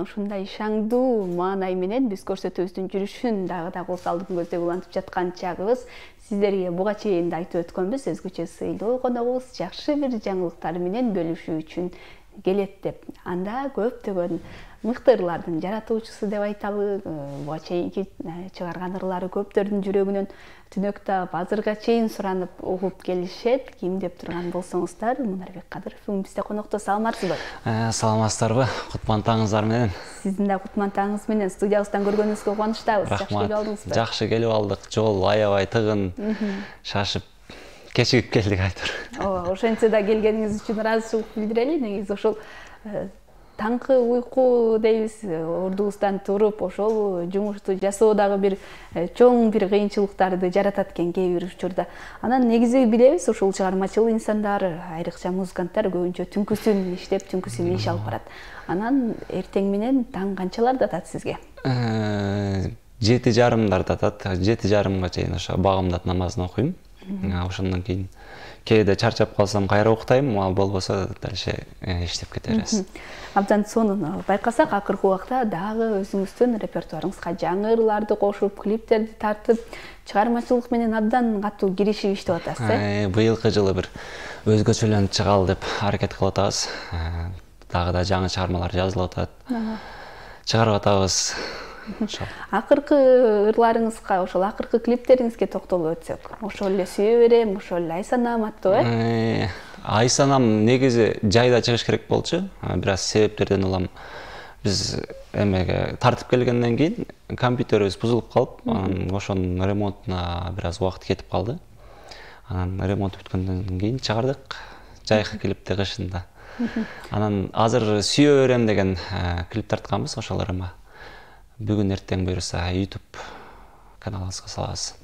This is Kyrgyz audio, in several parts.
ушундай шаңдуу маанай менен биз көрсөтүүбүздүн жүрүшүн дагы кол салдык көздөй улантып жаткан чагыбыз. Сиздерге буга чейин да айтып өткөнбүз, өзгөчө сыйлуу коногубуз жакшы бир жаңылыктар менен бөлүшүү үчүн келет деп. Анда көптөгөн мыкты ырлардын жаратуучусу деп айталы. Буга чейинки чыгарган ырлары көптөрдүн жүрөгүнөн түнөк таап, азырга чейин суранып угуп келишет. Ким деп турган болсоңуздар, Мунарбек Кадыров бүгүн бизде конокто. Саламатсызбы? Саламатсыздарбы? Кутман таңыңыздар менен. Сиздин да кутман таңыңыз менен. Студиябыздан көргөнүңүзгө кубанычтабыз. Жакшы келип алдыңызбы? Жакшы келип алдык. Жол аябай тыгын, шашып кечигип келдик айтор. Ооба, ошентсе да келгениңиз үчүн ыраазычылык билдирели. Негизи ошол таңкы уйку дейбиз, ордубуздан туруп ошол жумушту жасоо дагы бир чоң бир кыйынчылыктарды жаратат экен кээ бир учурда. Анан негизи билебиз, ошол чыгармачыл инсандар, айрыкча музыканттар көбүнчө түнкүсүн иштеп, түнкүсүн иш алып барат. Анан эртең менен таң канчаларда атат сизге? 7:30 атат. 7:30 чейин ошо багымдат намазын окуйм. Ошондон кийин кээде чарчап калсам кайра уктайм, ал болбосо дальше иштеп кете беребиз. Абдан сонун байкасак, акыркы убакта дагы өзүңүздүн репертуарыңызга жаңы ырларды кошуп, клиптерди тартып, чыгармачылык менен абдан катуу киришип иштеп атасыз, э? Быйылкы жылы бир өзгөчөлөнүп чыгалы деп аракет кылып атабыз. Дагы да жаңы чыгармалар жазылып атат. Чыгарып атабыз. Акыркы ырларыңызга, ошол акыркы клиптериңизге токтолуп өтсөк. Ошол эле сүйө берем, ошол эле ай санам аттуу, э? Ай санам негизи жайда чыгыш керек болчу. Бир аз себептерден улам биз эмеге тартып келгенден кийин компьютерибиз бузулуп калып, ошонун ремонтуна бир аз убакыт кетип калды. Анан ремонт бүткөндөн кийин чыгардык жайкы клипти кышында. Анан азыр сүйө берем деген клип тартканбыз, ошол ырыма. Бүгүн эртең буюрса YouTube каналыбызга салабыз.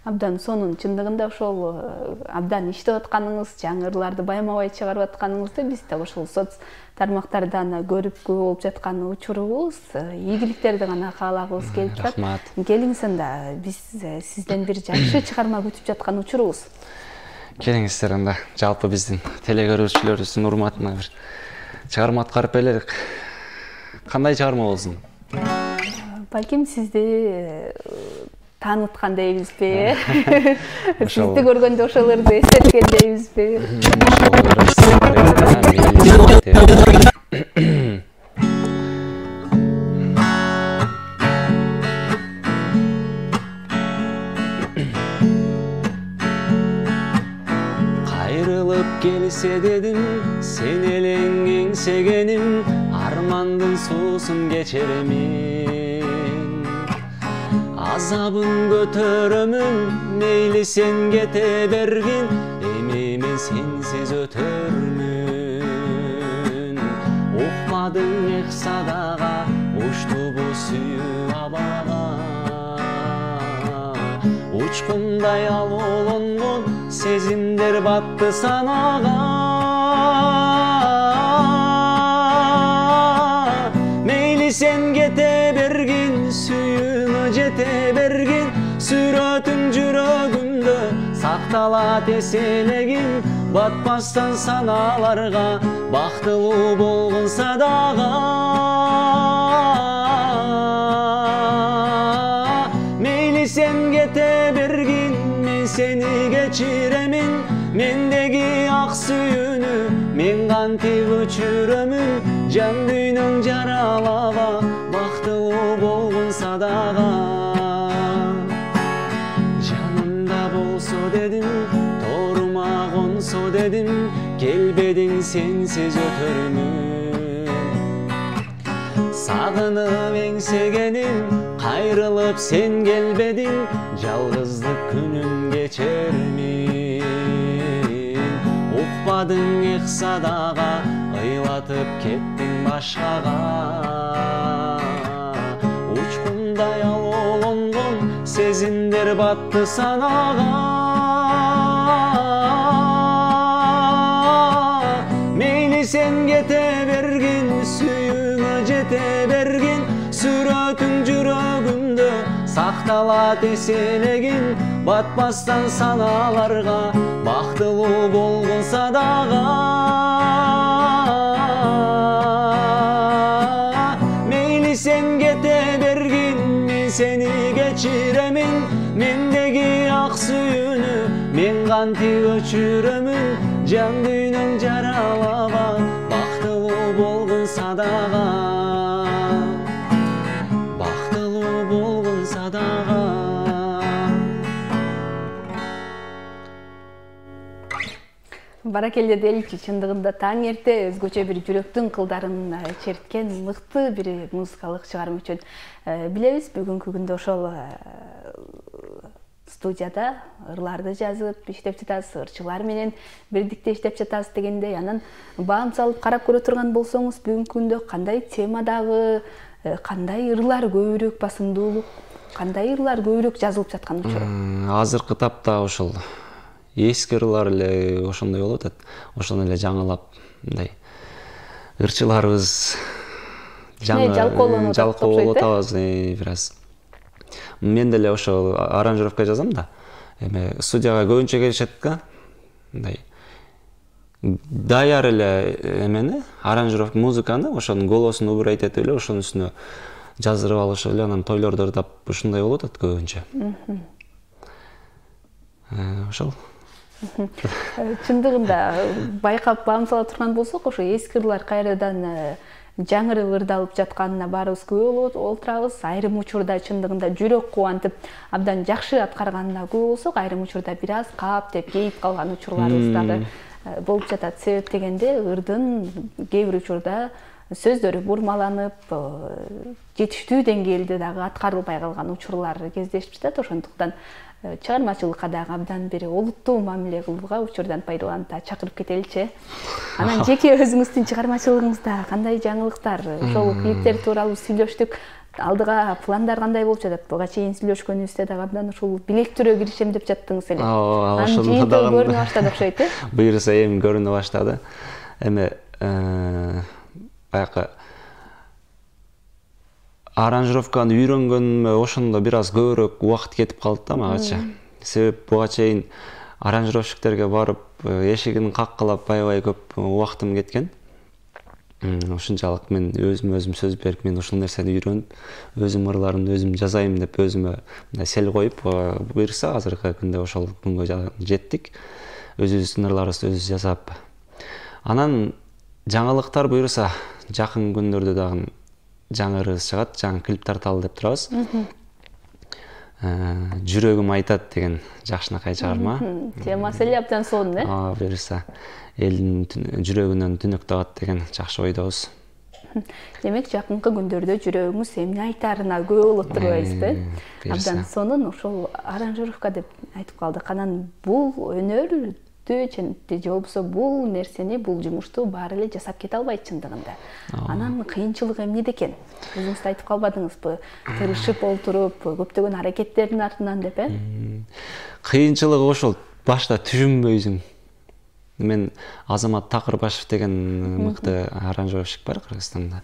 Абдан сонун, чындыгында ошол абдан иштеп атканыңыз, жаңы ырларды байма-бай чыгарып атканыңызды биз да ошол соц тармактардан көрүп болуп жаткан учурубуз. Ийгиликтерди гана каалагыбыз келип турат. Рахмат. Келиңиз анда, биз сизден бир жакшы чыгарма күтүп жаткан учурубуз. Келиңиздер анда, жалпы биздин телекөрүүчүлөрүбүздүн урматына бир чыгарма аткарып берелик. Кандай чыгарма болсун? Балким сизди тааныткан дейбизби? Сизди көргөндө ошолорду эстеткен дейбизби? Кайрылып келсе дедим, сен элең эңсегеним, армандын суусун кечеремин. Азабын көтөрөмүн, мейли сен кете бергин, эми мен сенсиз өтөрмүн. Укмадың эк садага, учтубу сүйүү абага. Учкундай алуулонгон сезимдер батты санага. Мейли сен кете бергин, сүйүүңө жете бергин, сүрөтүң жүрөгүмдө сакталат эселегин, батпастан саналарга бактылуу болгонса дагы. Мейли сен кете бергин, мен сени кечиремин, мендеги ак сүйүүнү мен кантип өчүрөмүн, жан дүйнөң жаралаба бактылуу болгонса дагы. Жанымда болсо дедим, тоорума консо дедим, келбедиң сенсиз өтөрмүн. Сагынып эңсегеним, кайрылып сен келбедиң, жалгыздык күнүн кечермин. Укпадың эк садага, ыйлатып кеттиң башкага. Учкундай алуулонгон сезимдер батты санага. Мейли сен кете бергин, сүйүүңө жете бергин, сүрөтүң жүрөгүмдө сакталат эселегин, батпастан саналарга бактылуу болгонса дагы. кантип өчүрөмүн жан дүйнөң жаралабан бактылуу болгон садага бактылуу болгон садага. Баракелде деличи, чындыгында таң эрте өзгөчө бир жүрөктүн кылдарын черткен мыкты бир музыкалык чыгарма үчүн билебиз. Бүгүнкү күндө ошол студияда ырларды жазып иштеп жатасыз, ырчылар менен бирдикте иштеп жатасыз дегендей, анан баам салып карап көрө турган болсоңуз, бүгүнкү күндө кандай темадагы, кандай ырлар көбүрөөк басымдуулук, кандай ырлар көбүрөөк жазылып жаткан учуру? Азыркы тапта ошол эски ырлар эле ошондой болуп атат. Ошону эле жаңылап мындай ырчыларыбыз жалкоолонуп атабыз бир аз. Мен деле ошо аранжировка жазам да. Эми студияга көбүнчө келишет да. Мындай даяр эле эмени, аранжировка музыканы, ошонун голосун убур айтып эле ошонун үстүнө жаздырып алышып эле анан тойлорду ырдап ушундай болуп атат көбүнчө. Ошол. Чындыгында байкап баам сала турган болсок, ошо эски ырлар кайрадан жаңырып ырдалып жатканына баарыбыз күбө болуп отурабыз. Айрым учурда чындыгында жүрөк кубантып абдан жакшы аткарганына күбө болсок, айрым учурда бир аз кааптеп кейип калган учурларыбыз дагы болуп жатат. Себеп дегенде ырдын кээ бир учурда сөздөрү бурмаланып, жетиштүү деңгээлде дагы аткарылбай калган учурлар кездешип жатат. Ошондуктан чыгармачылыкка дагы абдан бир олуттуу мамиле кылууга учурдан пайдаланып чакырып кетеличи. Анан жеке өзүңүздүн чыгармачылыгыңызда кандай жаңылыктар, ошол клиптер тууралуу сүйлөштүк. Алдыга пландар кандай болуп жатат? Буга чейин сүйлөшкөнүбүздө дагы абдан ушул билектирөө киришем деп жаттыңыз эле. Анын жыйынтыгы көрүнө баштады окшойт, Буюрса эми көрүнө баштады. Эми баягы аранжировканы үйрөнгөнүмө ошондо бир аз көбүрөөк убакыт кетип калды да магача. Себеп буга чейин аранжировщиктерге барып эшигин каккылап аябай көп убактым кеткен. Ушунчалык мен өзүм сөз берип, мен ушул нерсени үйрөнүп, өзүм ырларымды өзүм жазайм деп өзүмө мындай сел коюп, буюрса азыркы күндө ошол күнгө жеттик. Өзүбүздүн ырларыбызды өзүбүз жасап. Анан жаңылыктар буюрса жакын күндөрдө дагы жаңы ырыбыз чыгат, жаңы клип тарталы деп турабыз. Жүрөгүм айтат деген жакшынакай чыгарма. Темасы эле абдан сонун, буюрса элдин жүрөгүнөн түнөк табат деген жакшы ойдобуз. Демек, жакынкы күндөрдө жүрөгүңүз эмне айтаарына күбө болот турбайбызбы? Абдан сонун, ошол аранжировка деп айтып калдык. Анан бул өнөрдү же болбосо бул нерсени, бул жумушту баары эле жасап кете албайт чындыгында. Анан кыйынчылыгы эмнеде экен? Өзүңүз айтып калбадыңызбы? Тырышып олтуруп, көптөгөн аракеттердин артынан деп, Кыйынчылыгы ошол башта түшүнбөйсүң. Мен Азамат Такырбашев деген мыкты аранжировщик бар Кыргызстанда.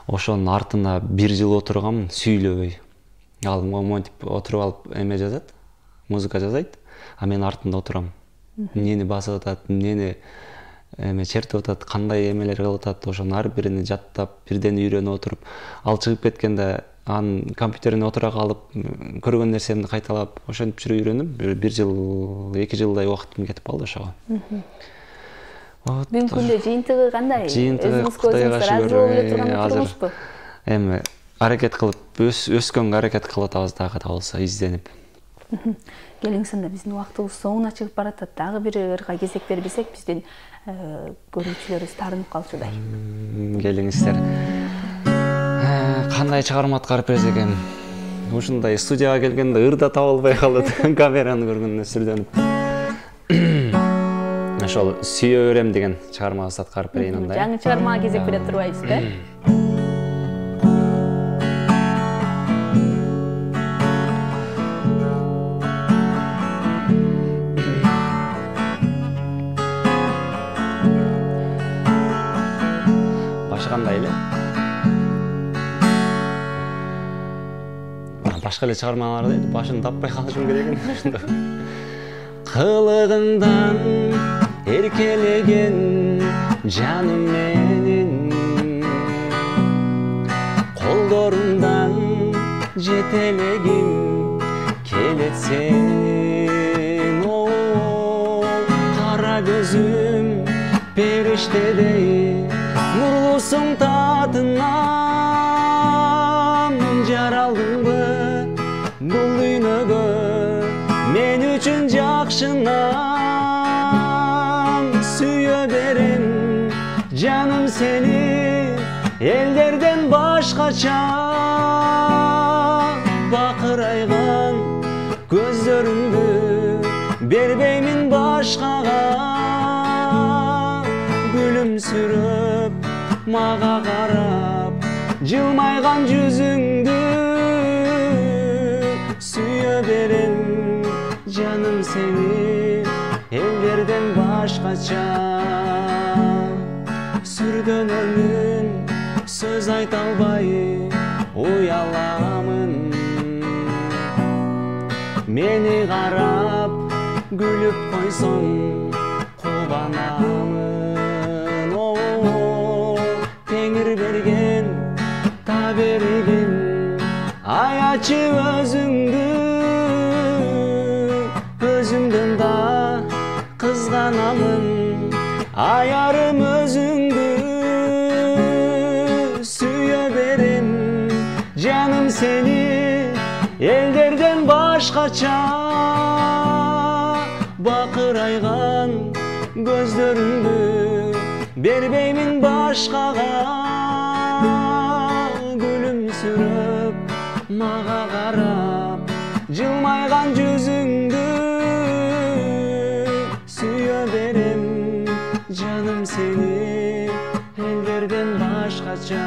Ошонун артына бир жыл отургам, сүйлөбөй. Ал монтип отуруп алып эме жазат, музыка жазайт, а мен артында отурам. Эмнени басып атат, эмнени чертип атат, кандай эмелер кылып атат, ошонун ар бирин жаттап, бирден үйрөнүп отуруп, ал чыгып кеткенде анын компьютерине отура калып, көргөн нерсемди кайталап, ошентип жүрүп үйрөнүп, бир жыл, 2 жылдай убактым кетип калды ошого. Бүгүнкү күндө жыйынтыгы кандай? Өзүңүз Кудайга шүгүр. Эми аракет кылып, өскөнгө аракет кылып атабыз дагы да болсо, изденип. Келиңсинде биздин убактыбыз соңуна чыгып баратат. Дагы бир ырга кезек бербесек, биздин көрүүчүлөрүбүз таарынып калчудай. Келиңиздер. Кандай чыгарма аткарып берсек эми? Ушундай студияга келгенде ырда таба албай калат, камераны көргөндө сүрдөнүп. Ошол сүйө берем деген чыгармабызды аткарып берейин анда. Жаңы чыгармага кезек бере турбайбызбы? Кандай эле? Башка эле чыгармалар дейт, башын таппай калышым керек экен. Кылыгыңдан эркелеген жаным менин, колдорумдан жетелегим келет сенин. көзүм периштедей нурлусуң татынан жаралдыңбы бул дүйнөгө мен үчүн жакшынан сүйө берем жаным сени элдерден башкача бакырайган көздөрүңдү бербеймин башкага күлүмсүрөп мага карап жылмайган жүзүңдү сүйө берем жаным сени элдерден башкача сүргөнөрмүн сөз айта албай уяламын мени карап күлүп койсоң кубанамын теңир берген таберигим аячы өзүңдү өзүмдөн да кызганамын аярым өзүңдү сүйө берем жаным сени элдерден башкача бакырайган көздөрүңдү бербеймин башкага күлүмсүрөп мага карап жылмайган жүзүңдү сүйө берем жаным сени элдерден башкача.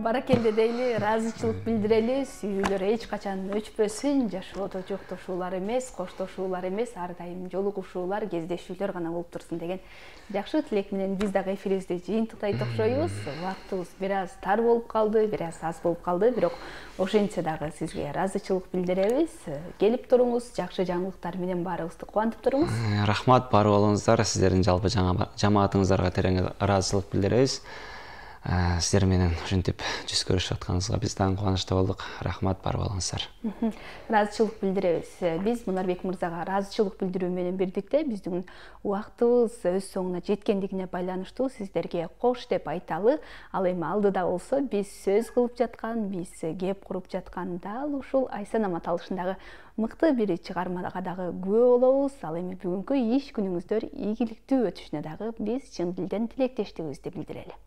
Баракелде дейли, ыраазычылык билдирели, сүйүүлөр эч качан өчпөсүн, жашоодо жоктошуулар эмес, коштошуулар эмес, ар дайым жолугушуулар, кездешүүлөр гана болуп турсун деген жакшы тилек менен биз дагы эфирибизди жыйынтыктайт окшойбуз. Убактыбыз бир аз тар болуп калды, бир аз аз болуп калды, бирок ошентсе дагы сизге ыраазычылык билдиребиз. Келип туруңуз, жакшы жаңылыктар менен баарыбызды кубантып туруңуз. Рахмат, бар болуңуздар, сиздердин жалпы жамаатыңыздарга терең ыраазычылык билдиребиз. Сиздер менен ушинтип жүз көрүшүп атканыбызга биз дагы кубанычтуу болдук. Рахмат, бар болуңуздар. Ыраазычылык билдиребиз. Биз Мунарбек мырзага ыраазычылык билдирүү менен бирдикте биздин убактыбыз өз соңуна жеткендигине байланыштуу сиздерге кош деп айталы. Ал эми алдыда болсо биз сөз кылып жаткан, биз кеп куруп жаткан дал ушул Айсан Аматалышындагы мыкты бир чыгармага дагы күбө болобуз. Ал эми бүгүнкү иш күнүңүздөр ийгиликтүү өтүшүнө дагы биз чын дилден тилектештигибизди билдирели.